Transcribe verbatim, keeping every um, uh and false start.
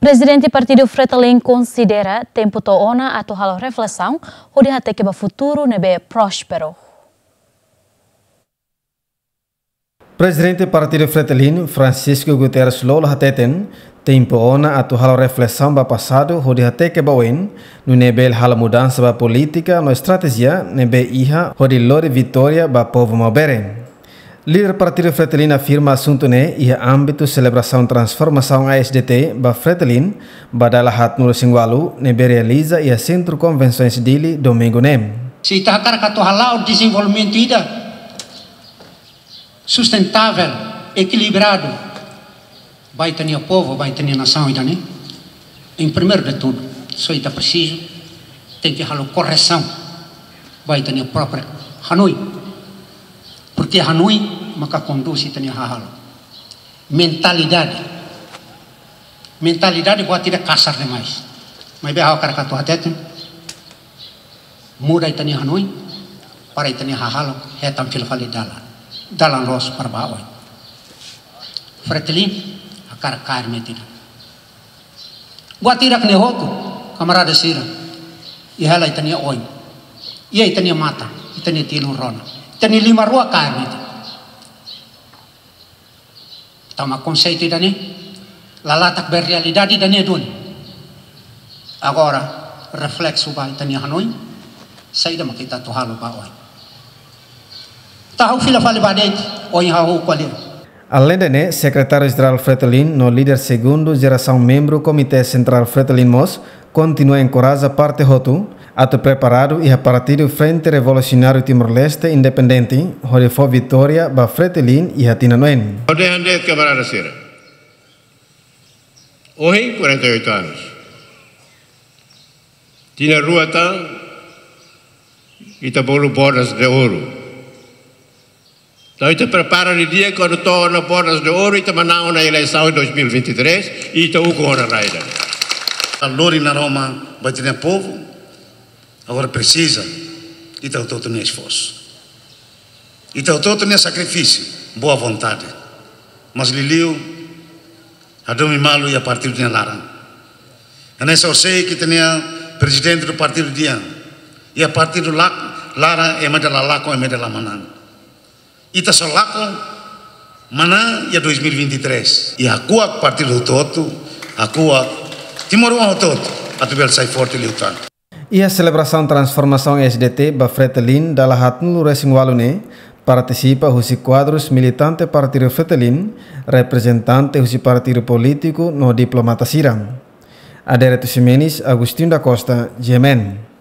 Prezidente Partidu Fretilin konsidera tempu to'o ona atu halo reflesaun hodi hateke ba futuru ne'ebé prósperu. Prezidente Partidu Fretilin, Francisco Guterres Lolo hateten, tempu ona atu halo reflesaun ba pasadu hodi hateke ba oin, nune'e bele halo mudansa ba polítika no estratéjia ne'ebé iha hodi lori vitória ba povu Maubere. Líder Partidu Fretilin afirma asuntu ne'e iha ámbitu selebrasaun transformasaun A S D T ba Fretilin ba dala haatnulu-resin-ualu ne'ebé realiza iha Sentru Konvensoens Dili, domingu ne'e. Se ita hakarak atu hala'o dezenvolvimentu ida sustentável, ekilibradu, ba ita-nia povu, ba ita-nia nasaun ida-ne'e, em primeiro de tudo, só ita presiza tenke halo korresaun ba ita-nia própria hanoin. Porque hanoin maka kondús ita-nia hahalok. Mentalidade. Mentalidade buat ida kasar demais. Maibé ha'u hakarak atu hateten, muda ita-nia hanoin, para ita-nia hahalok hetan fila fali dalan. Dalan loos para ba oin. Fretilin hakarak kaer metin. Buat hirak ne'e hotu, kamarada sira. Iha hela ita-nia oin. Iha ita-nia matan, ita-nia tilun rona. Ita-nia liman rua kaer metin. Tanba konseitu ida-ne'e, la latak ba realidade ida-ne'e duni. Agora, refleksu ba ita-nia hanoin, saida mak ita atu halo ba oin. Ita hahú fila fali ba de'it, oin hahú ko'alia. Aleinde ne'e, Sekretáriu Jerál Fretilin no líder segundu jerasaun membru Komité Sentrál Fretilin mós kontinua enkoraja parte hotu atu preparadu iha Partidu Frente Revolusionáriu Timor-Leste Independente hodi fó vitória ba Fretilin iha tinan oin. Ode hande kamarada sira. Ohin, quarenta e oito anos. Tinan rua tan, ita bolu bodas de ouro. Entaun, ita prepara didi'ak, kuandu to'o ona bodas de ouro, ita manán ona eleisaun em dois mil e vinte e três, ita ukun ona rai ida-ne'e. Lori naroman ba ita-nia povu, agora presiza ita hotu-hotu nia esforsu. Ita hotu-hotu nia sakrifísiu, boa vontade. Mas liuliu, hadomi malu iha partidu nia laran. Hanesan ohin ita-nia prezidente do partidu dehan, iha partidu lak-, laran ema ida la lakon, ema ida la manán. Ita só lakon manán iha dois mil e vinte e três. I hakuak partidu hotu-hotu, hakuak timoroan hotu-hotu, atu bele sai forte liután. Iha selebrasaun transformasaun S D T ba Fretilin dala haatnulu-resin-ualu ne'e, partisipa husi kuadrus militante Partidu Fretilin, reprezentante husi partidu polítiku no diplomata sira. Adérito Ximenes, Agostinho da Costa, G M N.